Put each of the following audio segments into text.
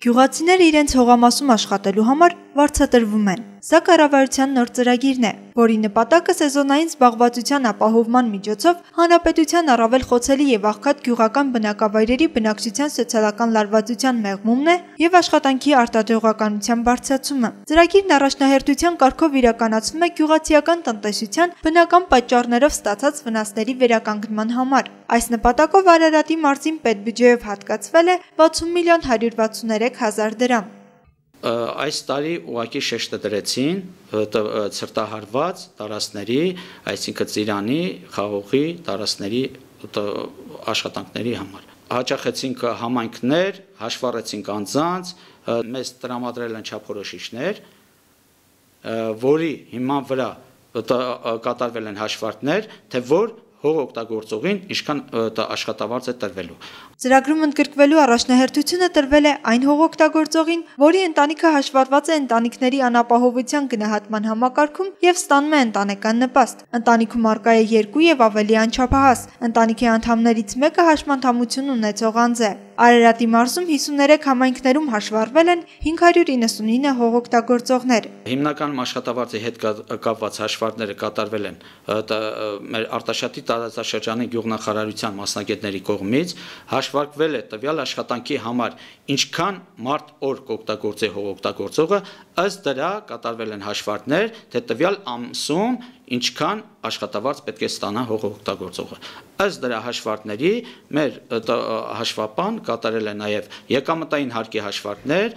Գյուղացիները իրենց հողամասում աշխատելու համար վարձատրվում են։ Սա կառավարության նոր ծրագիրն է, որի նպատակը սեզոնային զբաղվածության ապահովման միջոցով հանրապետության առավել խոցելի եւ աղքատ գյուղական բնակավայրերի բնակչության սոցիալական լարվածության մեղմումն է եւ աշխատանքի արտադրողականության բարձրացումը։ Ծրագիրն առաջնահերթության կարգով իրականացվում է գյուղացիական տնտեսության բնական պատճառներով ստացած վնասների վերականգնման համար։ Այս նպատակով Արարատի մարզին պետբյուջեով հատկացվել է 60 միլիոն 163 հազար դրամ։ Այս տարի ուղղակի շեշտը դրեցին ցրտահարված տարածքների, այսինքն Ծիրանի, Խաղողի տարածքների աշխատանքների համար։ Հաճախեցինք համայնքներ, հաշվառեցինք անձանց, մեզ տրամադրել են չափորոշիչներ, որի հիման վրա կատարվել են հաշվարկներ, թե որ հող օգտագործողին ինչքան աշխատավարձ է տրվելու։ Ծրագրում ընդգրկվելու առաջնահերթությունը տրվել է այն հող օգտագործողին, որի ընտանիքը հաշվառված է ընտանիքների անապահովության գնահատման համակարգում եւ ստանում է ընտանեկան նպաստ։ Ընտանիքում առկա է 2 եւ ավելի անչափահաս։ Ընտանիքի անդամներից մեկը հաշմանդամություն ունեցող անձ է։ Արարատի մարզում 53 համայնքներում հաշվառվել են 599 հող օգտագործողներ։ Հիմնականում աշխատավարձի հետ կապված հաշվարկները կատարվել են մեր Արտաշատի տարածաշրջանի գյուղնախարարության մասնագետների կողմից, հաշվարկվել է տվյալ աշխատանքի համար ինչքան մարդ օր կօգտագործի հող օգտագործողը, ըստ դրա կատարվել են հաշվարկներ, թե տվյալ ամսում ինչքան աշխատավարձ պետք է ստանա հող օգտագործողը։ Ըստ դրա հաշվարկների մեր հաշվապան կատարել է նաև եկամտային հարկի հաշվարկներ,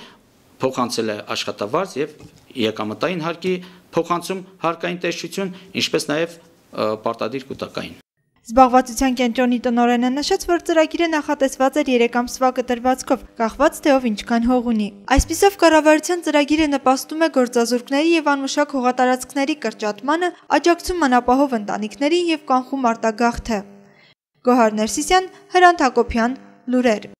փոխանցել է աշխատավարձ եւ եկամտային հարկի փոխանցում հարկային տեսչություն, ինչպես նաև պարտադիր կուտակային։ Զբաղվածության կենտրոնի տնօրենը նշեց, որ ծրագիրը նախատեսված էր 3 ամսվա կտրվածքով, կախված թե ով ինչքան հող ունի։ Այսպիսով կառավարության ծրագիրը նպաստում է գործազուրկների եւ անմշակ հողատարածքների կրճատմանը, աջակցում անապահով ընտանիքներին եւ կանխում արտագաղթը։ Գոհար Ներսիսյան, Հրանտ Հակոբյան, լուրեր։